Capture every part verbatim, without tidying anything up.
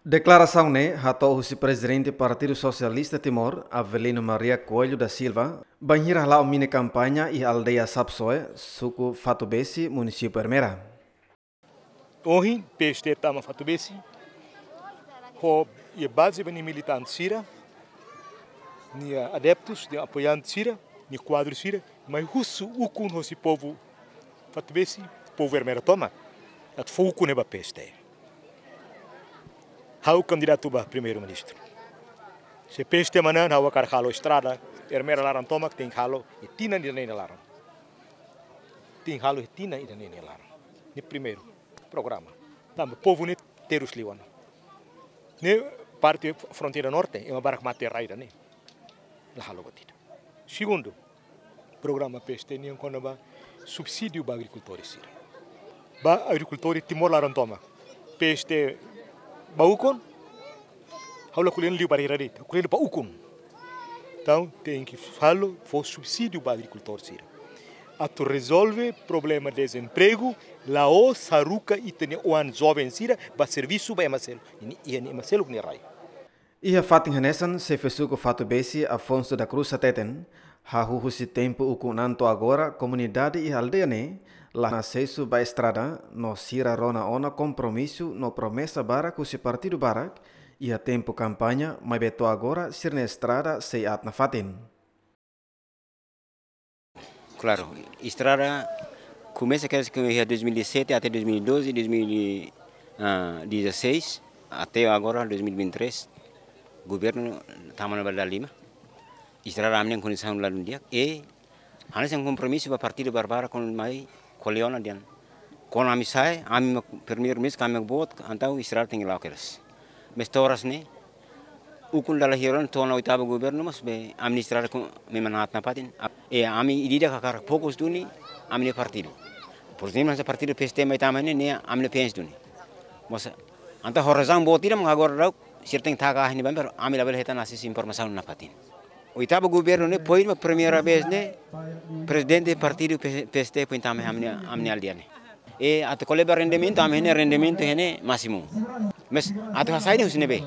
Deklarasaun ne'e hato'o husi Prezidente Partidu Sosialista Timor, Avelino Maria Coelho da Silva, bainhira hala'o mini kampaña iha aldeia Sapsoe, suku Fatubesi, munisípiu Ermera. Ohin, P S T tama Fatubesi, ho iha baze ba nia militante sira, nia adeptus, nia apoiante sira, nia kuadru sira, mai husu ukun hosi povu Fatubesi, povu Ermera tomak, atu fó ukun ne'e ba P S T. Ha'u kandidatu ba Primeiru-Ministru. Se P S T manán, ha'u hakarak halo estrada, Ermera laran tomak, tenke halo iha tinan ida-ne'e nia laran. Tenke halo iha tinan ida-ne'e nia laran. Ne'e primeiru programa. Tanba povu ne'e terus liu ona. Ne'e parte fronteira norte, ema barak mate rai ida-ne'e. La halo buat ida. Segundu, programa P S T nian kona-ba subsídiu ba agrikultór sira. Ba agrikultór Timor laran tomak. P S T ba ukun, ha'u la ko'alia liu barreira de'it, ha'u ko'alia ba ukun. Entaun, tenke halo, fó subsídiu ba agrikultór sira. Atu rezolve problema dezempregu, la'ós haruka ita-nia oan joven sira ba servisu ba ema seluk, nia, nia ema seluk nia rai. Iha fatin hanesan, Xefe Suku Fatubesi, Afonso da Cruz hateten, hahú husi tempu ukun an to'o agora, komunidade iha aldeia ne'e la asesu ba estrada, no sira rona ona kompromisu no promesa barak husi partidu barak iha tempu kampaña, maibé to'o agora sira-nia estrada sei aat nafatin. Klaru, estrada komesa kedas iha dois mil e sete até dois mil e doze, dois mil e dezasseis, até agora dois mil e vinte e três, governu tama ona ba dala lima. Estrada ami-nian kondisaun ladún di'ak, e hanesan kompromisu ba partidu barak-barak kuandu mai ko'alia ona dehan, kuandu ami sai, ami mak primeiru-ministru, ami mak boot, entaun estrada tenke la'o kedas. Maibé to'o oras ne'e, ukun dala hirak ona to'o ona oitavu governu, maibé ami-nia estrada ku memang aat nafatin. E ami ida-idak hakarak fokus duni ami-nia partidu. Porezemplu, se partidu P S T mai tama ne'e, ne'e ami-nia fans duni. Maibé, entaun ho razaun boot ida mak agora daudaun sira tenke taka ahi ne'ebá, ami labele hetan asesu informasaun nafatin. Oitavu governu ne'e foin mak primeira vez ne'e prezidente partidu P-, P S T foin tama ami-nia, ami-nia aldeia ne'e. E atu ko'alia ba rendimentu, ami-nia rendimentu ne'e másimu. Maibé atu hasai ne'e husi ne'ebé?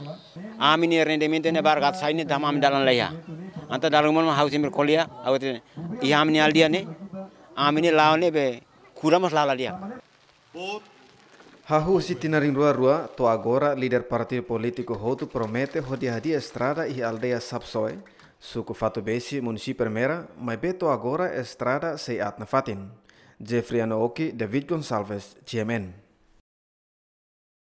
Ami-nia rendimentu ne'e barak atu hasai ne'e tanba ami dalan la iha. Entaun dala ruma mak ha'u sempre ko'alia, ha'u hatete, iha ami-nia aldeia ne'e, ami-nia la'o ne'ebé kuda mós la'o la di'ak. Hahú husi tinan rihun rua rua to'o agora, líder partidu polítiku hotu promete hodi hadi'a estrada iha aldeia Sapsoe, suku Fatubesi, munisípiu Ermera, maibé to'o agora estrada sei aat nafatin. Jeffrey Anooki, David Gonçalves, G M N.